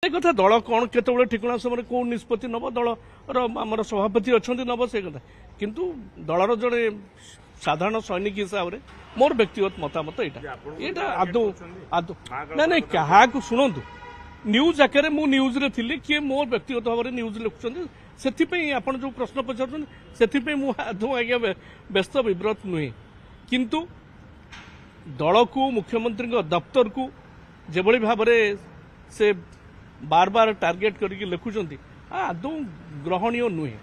ସେ କଥା ଦଳ କ'ଣ କେତେବେଳେ ଠିକଣା ସମୟରେ କେଉଁ ନିଷ୍ପତ୍ତି ନେବ, ଦଳର ଆମର ସଭାପତି ଅଛନ୍ତି, ନେବ ସେ କଥା। କିନ୍ତୁ ଦଳର ଜଣେ ସାଧାରଣ ସୈନିକ ହିସାବରେ ମୋର ବ୍ୟକ୍ତିଗତ ମତାମତ ଏଇଟା, ଏଇଟା ଆଦୌ ଆଦୌ ନାଇଁ ନାଇଁ। କାହାକୁ ଶୁଣନ୍ତୁ, ନ୍ୟୁଜ୍ ଆକାରରେ ମୁଁ ନ୍ୟୁଜ୍ରେ ଥିଲି, କିଏ ମୋ ବ୍ୟକ୍ତିଗତ ଭାବରେ ନ୍ୟୁଜ୍ ଲେଖୁଛନ୍ତି, ସେଥିପାଇଁ ଆପଣ ଯେଉଁ ପ୍ରଶ୍ନ ପଚାରୁଛନ୍ତି ସେଥିପାଇଁ ମୁଁ ଆଦୌ ଆଜ୍ଞା ବ୍ୟସ୍ତ ବିବ୍ରତ ନୁହେଁ। କିନ୍ତୁ ଦଳକୁ, ମୁଖ୍ୟମନ୍ତ୍ରୀଙ୍କ ଦପ୍ତରକୁ ଯେଭଳି ଭାବରେ ସେ ବାର ବାର ଟାର୍ଗେଟ କରିକି ଲେଖୁଛନ୍ତି, ଆଦୌ ଗ୍ରହଣୀୟ ନୁହେଁ।